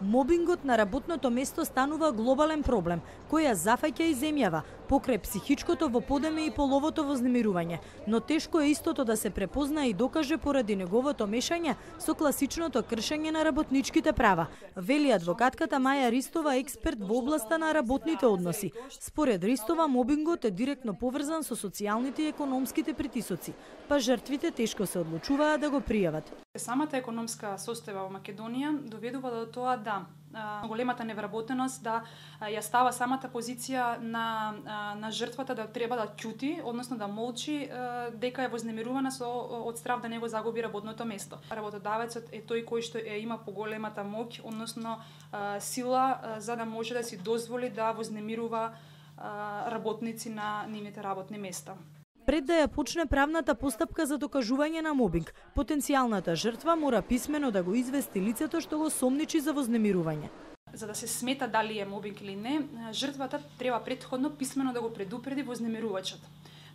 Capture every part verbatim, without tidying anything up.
Мобингот на работното место станува глобален проблем, кој ја зафаќа и земјава, покрај психичкото во подеме и половото вознемирување, но тешко е истото да се препозна и докаже поради неговото мешање со класичното кршење на работничките права, вели адвокатката Маја Ристова, експерт во областа на работните односи. Според Ристова, мобингот е директно поврзан со социјалните и економските притисоци, па жртвите тешко се одлучуваат да го пријават. Самата економска состојба во Македонија доведува до тоа да големата невработеност да ја става самата позиција на на жртвата да треба да ќути, односно да молчи дека е вознемирувана со од страв да не го загуби работното место. Работодавецот е тој кој што е има поголемата моќ, односно сила за да може да си дозволи да вознемирува работници на нивните работни места. Пред да ја почне правната постапка за докажување на мобинг, потенцијалната жртва мора писмено да го извести лицето што го сомничи за вознемирување. За да се смета дали е мобинг или не, жртвата треба претходно писмено да го предупреди вознемирувачот.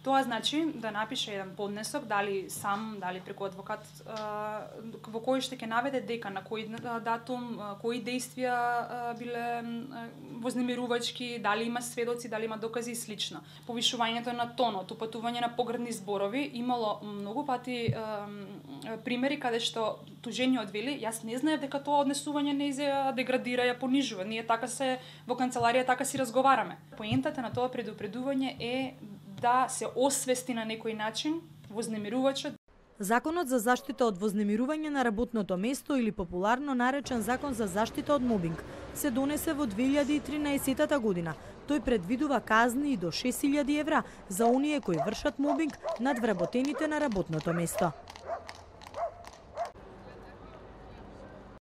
Тоа значи да напише еден поднесок, дали сам, дали преку адвокат, во кој што ќе наведе дека на кој датум, кои действија биле вознемирувачки, дали има сведоци, дали има докази и слично. Повишувањето на тонот, упатување на погрдни зборови, имало многу пати примери каде што тужениот вели, јас не знаев дека тоа однесување не ја деградира, ја понижува. Ние така се во канцеларија така си разговараме. Поентата на тоа предупредување е да се освести на некој начин вознемирувачот. Законот за заштита од вознемирување на работното место или популарно наречен Закон за заштита од мобинг се донесе во две илјади и тринаесетта година. Тој предвидува казни и до шест илјади евра за оние кои вршат мобинг над вработените на работното место.